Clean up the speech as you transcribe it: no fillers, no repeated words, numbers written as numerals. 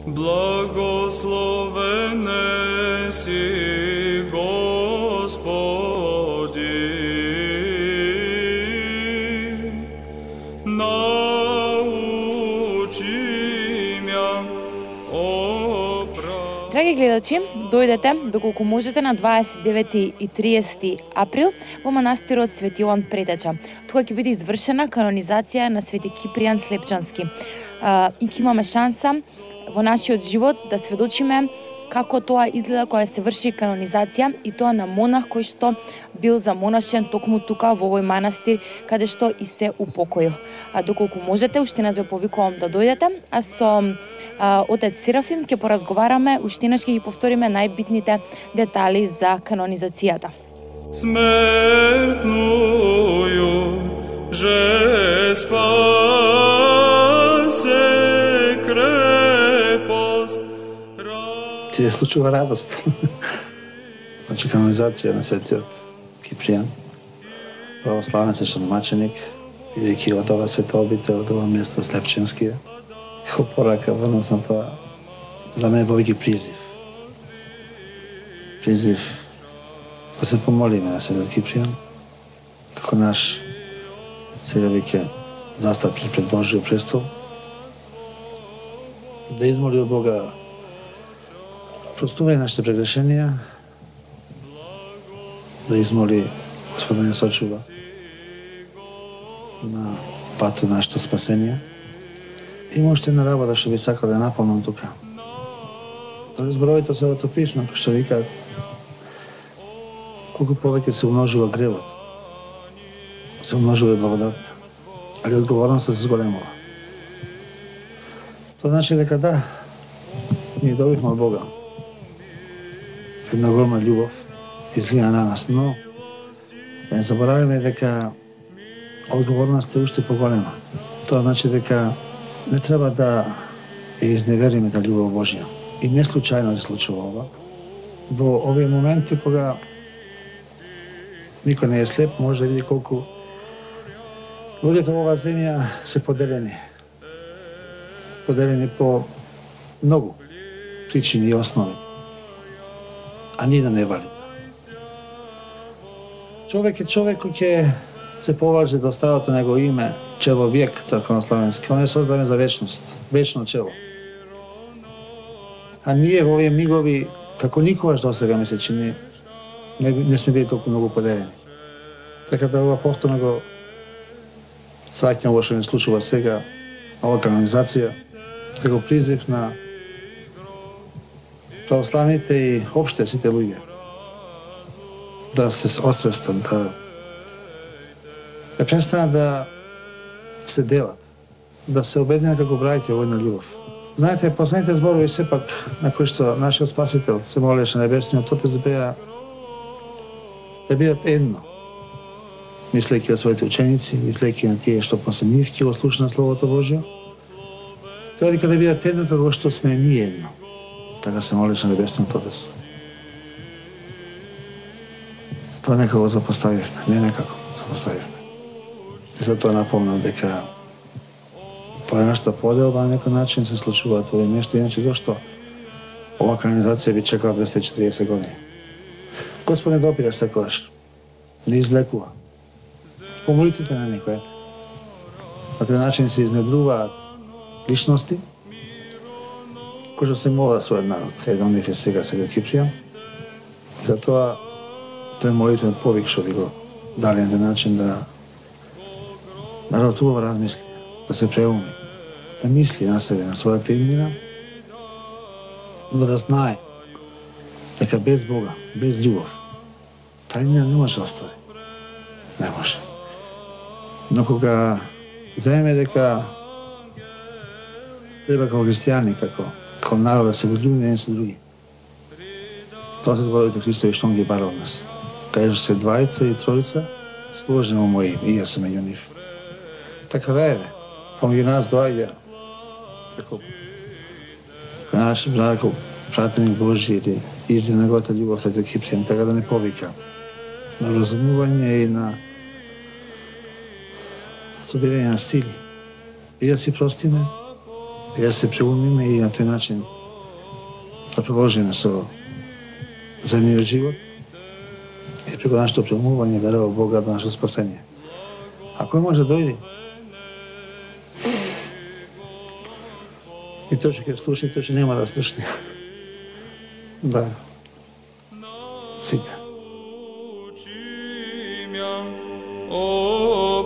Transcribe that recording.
Благословен си, Господи, научи ме оправ. Драги гледачи, дојдете доколку можете на 29 и 30 април во манастирот Свети Јован Претеча. Тука ќе биде извршена канонизација на Свети Кипријан Слепчански. И ќе имаме шанса во нашиот живот да сведочиме како тоа изгледа кога се врши канонизација, и тоа на монах кој што бил замонашен токму тука во овој манастир каде што и се упокоил. Доколку можете, уште нас ве повикувам да дојдете, а со отец Серафим ќе поразговараме, уштинаш ќе ги повториме најбитните детали за канонизацијата. Смертную же спасе крепост. Ти се случува радост. Значи канонизација на Светиот Кипријан, православен свещеномаченик, идејќи од ова света обител, од ова место Слепчански, како порака во однос на тоа, за мене повеќе призив. Призив да се помолиме на Светиот Кипријан, како наш сега веќе застапи пред Божиот престол, да измоли од Бога простувај нашите прегрешенија, да измоли Господ да не сочува на патот на нашето спасение. Има уште една работа што би сакал да напомнам тука. Тоа зборовите се од писмо, кои што викаат колку повеќе се умножува гревот, се умножува и благодатта, али одговорноста се зголемува. Тоа значи дека да, ние добивме од Бога една огромна љубов излија на нас, но да не забораваме дека одговорноста е уште поголема. Тоа значи дека не треба да ја изневериме таа љубов Божја. И не случајно се случува ова. Во овие моменти кога никој не е слеп, може да види колку луѓето во оваа земја се поделени. Поделени по многу причини и основи. А ни да не валим. Човек е човек кој ќе се поврзе до старото негово име, человек црковнославенски. Он е создаден за вечност, вечно чело. А ние во овие мигови, како никогаш досега ми се чини, не сме били толку многу поделени. Така да ова повторно го сваќам во што не случува сега, ова канонизација, како призив на православните и опште сите луѓе да се освестат, да престанат да се делат, да се обединат како браќа во една љубов. Знаете, последните зборови сепак на кои што нашиот Спасител се молеше на небесниот Отец беа да бидат едно, мислејќи на своите ученици, мислејќи на тие што после нив ќе го слушнат Словото Божјо. Тоа вика да бидат едно како што сме ние едно. Така се молеше на небесниот Отец. Тоа некако запоставивме, не некако запоставивме. И затоа напомнам дека по нашата поделба на некој начин се случуваат овие нешта, иначе зашто ова канонизација би чекала 240 години. Господ не допира секогаш, не излекува. По молитвите на некој, на тој начин се изнедруваат личности кои што се молат својот народ. Еден од нив е сега Светиот Кипријан. Затоа тој молитвен повик што би го дали на начин да народот убаво размисли, да се преуми, да мисли на себе, на својата иднина, но да знае дека без Бога, без љубов, таа иднина не може да оствари. Не може. Но кога земеме дека треба како христијани, како народ да се возлюбиме еден со други, тоа се зборовите Христови што ги бара од нас. Кажу се двајца и тројца, сложени во моје име, и јас сум меѓу нив. Така да еве, помеѓу нас доаѓа како наш брат, пратеник Божи или издрив неговата љубов Светиот Кипријан, така да не повика на разумување и на собирање на сили. И да си простиме, Јас се преумиме и на тој начин да продолжиме со земниот живот и преку нашето преумување верува Бога до нашето спасение. Ако може дојди, и тој што ќе слуша и тој што нема да слушне. Да. Сите. О,